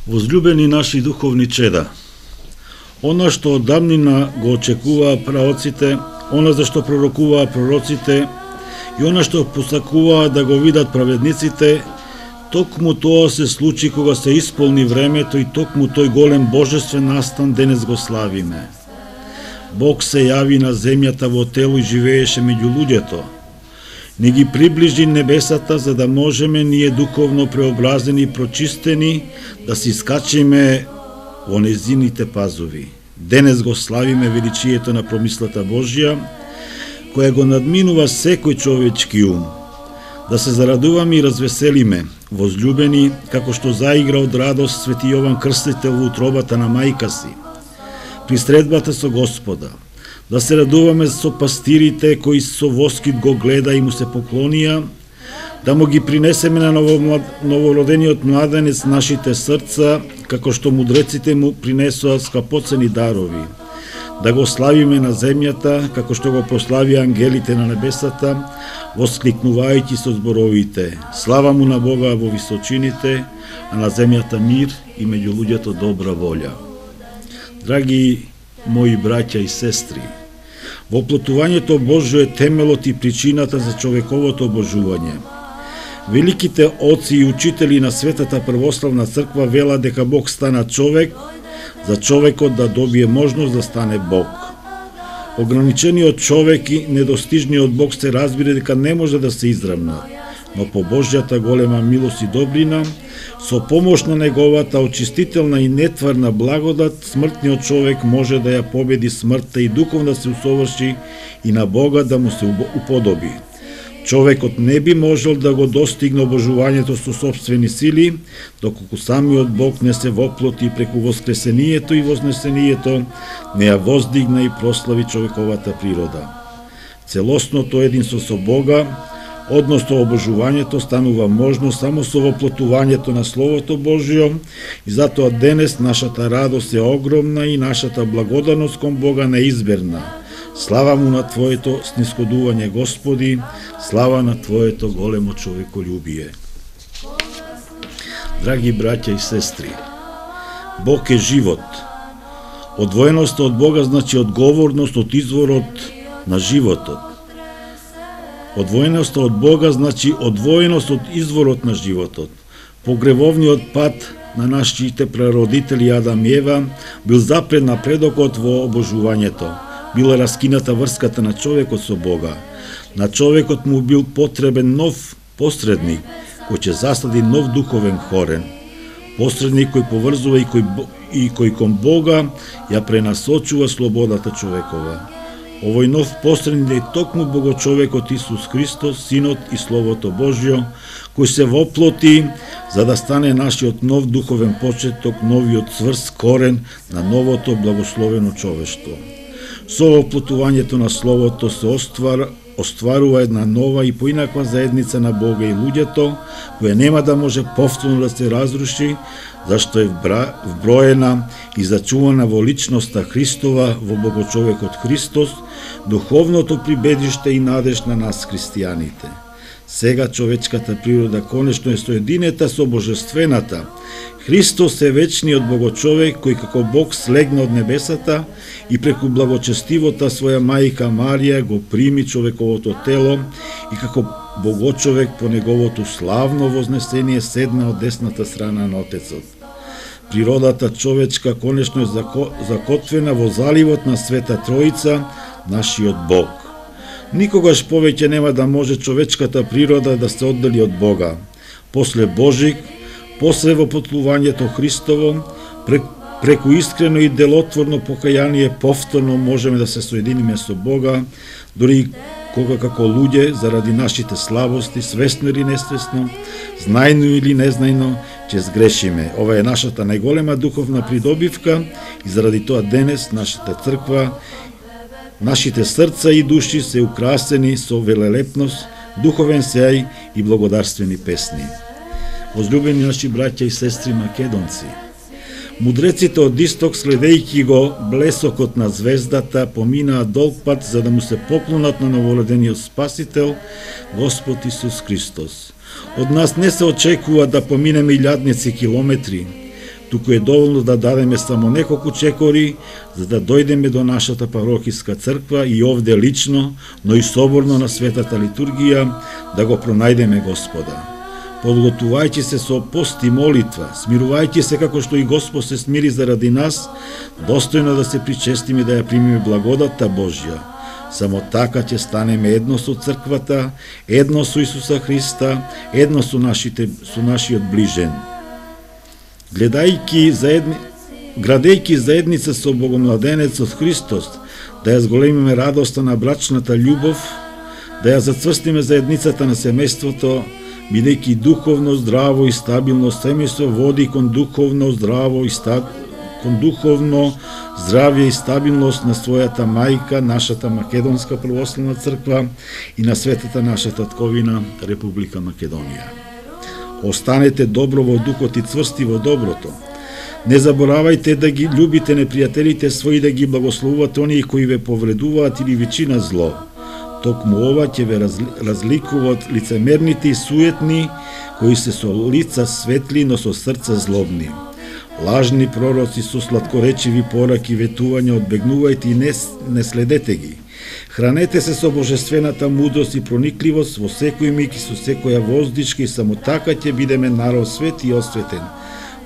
Возлюбени наши духовни чеда, она што од давнина го очекуваа праоците, она за што пророкуваа пророците и она што посакуваа да го видат праведниците, токму тоа се случи кога се исполни времето и токму тој голем божествен настан денес го славиме. Бог се јави на земјата во тело и живееше меѓу луѓето. Не ги приближи небесата за да можеме ние духовно преобразени и прочистени да си скачиме во незините пазови. Денес го славиме величието на промислата Божја, која го надминува секој човечки ум. Да се зарадуваме и развеселиме, возлюбени, како што заигра од радост свети Јован Крстител во утробата на мајка си. При средбата со Господа, да се радуваме со пастирите кои со воскит го гледа и му се поклонија, да му ги принесеме на новородениот младенец нашите срца, како што мудреците му принесоа скапоцени дарови, да го славиме на земјата, како што го прославија ангелите на небесата, воскликнувајќи со зборовите: слава му на Бога во височините, а на земјата мир и меѓу луѓето добра волја. Драги мои браќа и сестри, воплотувањето Божјо е темелот и причината за човековото обожување. Великите оци и учители на Светата Православна црква велат дека Бог стана човек, за човекот да добие можност да стане Бог. Ограничениот човек и недостижниот Бог се разбира дека не може да се изравнат, но по Божјата голема милост и добрина, со помош на неговата очистителна и нетварна благодат, смртниот човек може да ја победи смртта и духовно да се усоврши и на Бога да му се уподоби. Човекот не би можел да го достигне обожувањето со собствени сили, доколку самиот Бог не се воплоти преку воскресението и вознесението, не ја воздигна и прослави човековата природа. Целосното единство со Бога, односно обожувањето, станува можно само со воплотувањето на Словото Божјо и затоа денес нашата радост е огромна и нашата благодарност кон Бога неизберна. Слава му на Твоето снисходување, Господи, слава на Твоето големо човеколюбие. Драги браќа и сестри, Бог е живот. Одвоеноста од Бога значи одговорност од изворот на животот. Одвоеноста од Бога значи одвоеност од изворот на животот. Погревовниот пат на нашите прародители Адам и Ева бил запред на предокот во обожувањето. Била раскината врската на човекот со Бога. На човекот му бил потребен нов посредник, кој ќе засади нов духовен корен. Посредник кој поврзува и кој кон Бога ја пренасочува слободата човекова. Овој нов посредник е токму Богочовекот Исус Христос, Синот и Словото Божјо, кој се воплоти за да стане нашиот нов духовен почеток, новиот цврст корен на новото благословено човештво. Со воплотувањето на Словото се остварува една нова и поинаква заедница на Бога и луѓето, која нема да може повторно да се разруши, зашто е вброена и зачувана во личноста Христова, во Богочовекот Христос, духовното прибедиште и надеж на нас христијаните. Сега човечката природа конечно е соединета со божествената. Христос е вечниот Богочовек кој како Бог слегна од небесата и преку благочестивота своја мајка Марија го прими човековото тело и како Богочовек по неговото славно вознесение седна од десната страна на Отецот. Природата човечка конечно е закотвена во заливот на Света Троица, нашиот Бог. Никогаш повеќе нема да може човечката природа да се оддели од Бога. После Божик, после воплотувањето Христово, преку искрено и делотворно покаяние повторно можеме да се соединиме со Бога, дури кога како луѓе, заради нашите слабости, свесно или несвесно, знајно или незнајно, ќе сгрешиме. Ова е нашата најголема духовна придобивка и заради тоа денес нашата црква, нашите срца и души се украсени со велелепност, духовен сеј и благодарствени песни. Возлюбени наши браќа и сестри македонци, мудреците од исток, следејќи го блесокот на звездата, поминаа долг пат за да му се поклонат на новородениот Спасител, Господ Исус Христос. Од нас не се очекува да поминеме илјадници километри, туку е доволно да дадеме само неколку чекори, за да дојдеме до нашата парокиска црква и овде лично, но и соборно на светата литургија, да го пронајдеме Господа. Подготувајќи се со пост и молитва, смирувајќи се како што и Господ се смири заради нас, достојно да се причестиме да ја примиме благодатта Божја. Само така ќе станеме едно со црквата, едно со Исуса Христа, едно со нашиот ближен. Градејќи заедница со Богомладенецот Христос, да ја зголемиме радоста на брачната љубов, да ја зацврстиме заедницата на семејството, бидејќи духовно здраво и стабилно семејство води кон духовно здравје и стабилност на својата мајка, нашата Македонска православна црква и на светата наша татковина Република Македонија. Останете добро во духот и цврсти во доброто. Не заборавајте да ги љубите непријателите своји, да ги благословувате оние кои ве повредуваат или ви чинат зло. Токму ова ќе ве разликува од лицемерните и суетни, кои се со лица светли, но со срца злобни. Лажни пророци со сладкоречиви пораки, ветувања, одбегнувајте и не следете ги. Хранете се со божествената мудрост и проникливост во секој миг и со секоја воздишка, и само така ќе бидеме народ свет и осветен,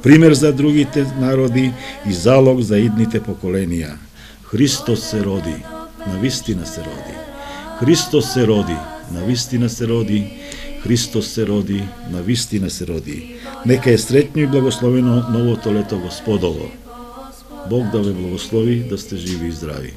пример за другите народи и залог за идните поколенија. Христос се роди, навистина се роди. Христос се роди, навистина се роди. Христос се роди, навистина се роди. Нека е среќно и благословено новото лето Господово. Бог да ве благослови, да сте живи и здрави.